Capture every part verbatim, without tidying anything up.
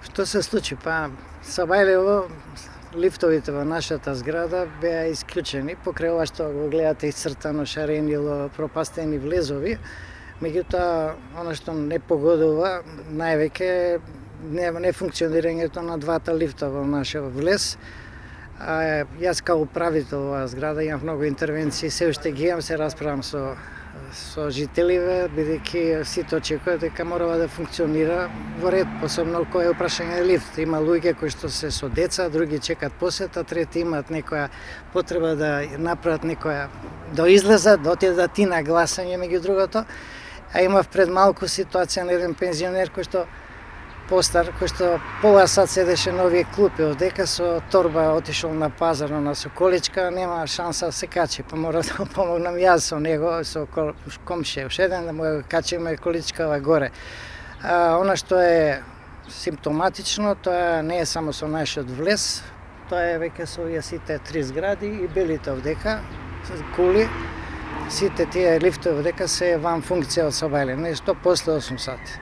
Што се случи? Па, Сабајлево, лифтовите во нашата зграда беа исклучени, покрај ова што го гледате исцртано шаренило, пропастени влезови. Меѓутоа, она што не погодува највеќе не, не функционирањето на двата лифта во нашиот влез. А, јас као управител оваа зграда имам многу интервенции, се уште ги имам, се расправам со со жителиве, бидејќи сите очекуваат дека мора да функционира во ред, посебно кога е прашање лифт. Има луѓе кои што се со деца, други чекат посета, трети имаат некоја потреба да направат некоја да излезат, да отидат и на гласање меѓу другото. А имав пред малку ситуација на еден пензионер кој што постар, кој што пола сат седеше на овие клупи одека со торба отишол на пазар на Соколичка, нема шанса да се качи, па мора да помогнам јас со него, со комшија, уште еден да му ја качиме количкава горе. А, она што е симптоматично, тоа не е само со нашиот влез, тоа е веќе со овие сите три згради и белите овдека, кули, сите тие лифтови овдека се ван функција од Сабајле, нешто после осум сати.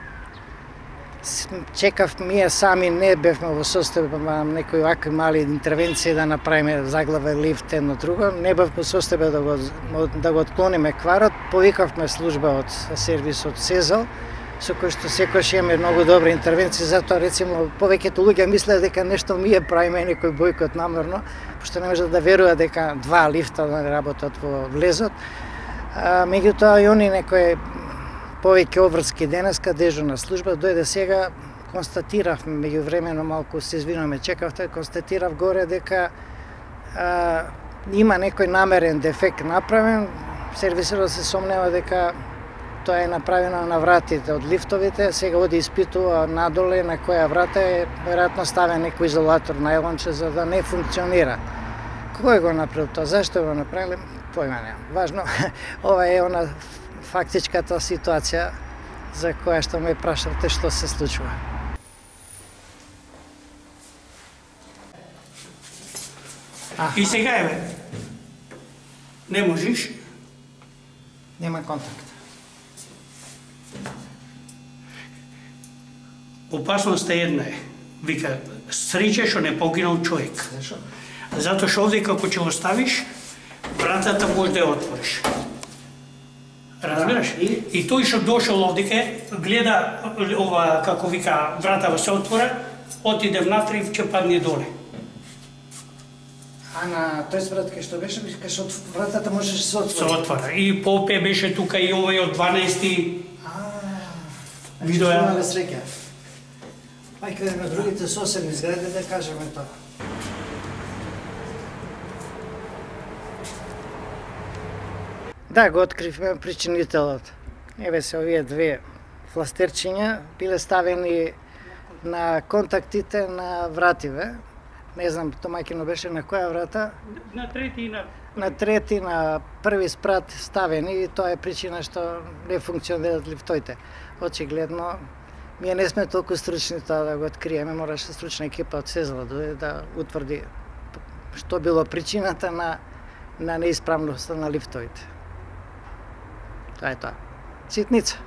Чекав, ние сами не бевме во состојба на некои вакви мали интервенции да направиме заглаве лифт едно друго, не бев во состојба да го да го отклониме кварот, повикавме служба од сервисот Сезал, со кој што секогаш имаме многу добри интервенции, затоа рецимо повеќето луѓе мислеа дека нешто ние правиме некој бојкот намерно, пошто не можат да веруваат дека два лифта да работат во влезот. А, меѓутоа и они некои повеќе обврски денеска дежурна служба дојде сега, констатиравме меѓувремено малку се извинуваме, чекавте, констатирав горе дека а, има некој намерен дефект направен, сервисерот се сомнева дека тоа е направено на вратите од лифтовите, сега оди испитува надоле на која врата е веројатно ставен некој изолатор најлонче за да не функционира. Кој го направил тоа? Зашто го направиле? Појма немам. Важно, ова е она фактичката ситуација за која што ме прашавте што се случува. Аха. И сега еве, не можеш? Нема контакт. Опасноста една е. Вика, среќа што не погинал човек. Зашо? Затоа што овде како ќе го ставиш, вратата може да ја отвориш. Разбираш? И, и тој што дошол овдеке, гледа ова, како вика, вратава се отвора, отиде внатре и ќе падне доле. А на тој врат кај што беше, кај што вратата можеше се отвори? Се отвора. И попе беше тука и овој од дванаести. А, видео ја. Имале среќа. Ајде на другите соседни згради да кажеме тоа. Да, го откривме причинителот. Еве се овие две фластерчиња биле ставени на контактите на вративе. Не знам, домаќино беше на која врата? На трети и на... На трети, на први спрат ставени и тоа е причина што не функционираат лифтовите. Очигледно, ние не сме толку стручни тоа да го откриеме, мораше стручна екипа од Сезала да, да утврди што било причината на, на неисправноста на лифтовите. Тоа е тоа. Ситница.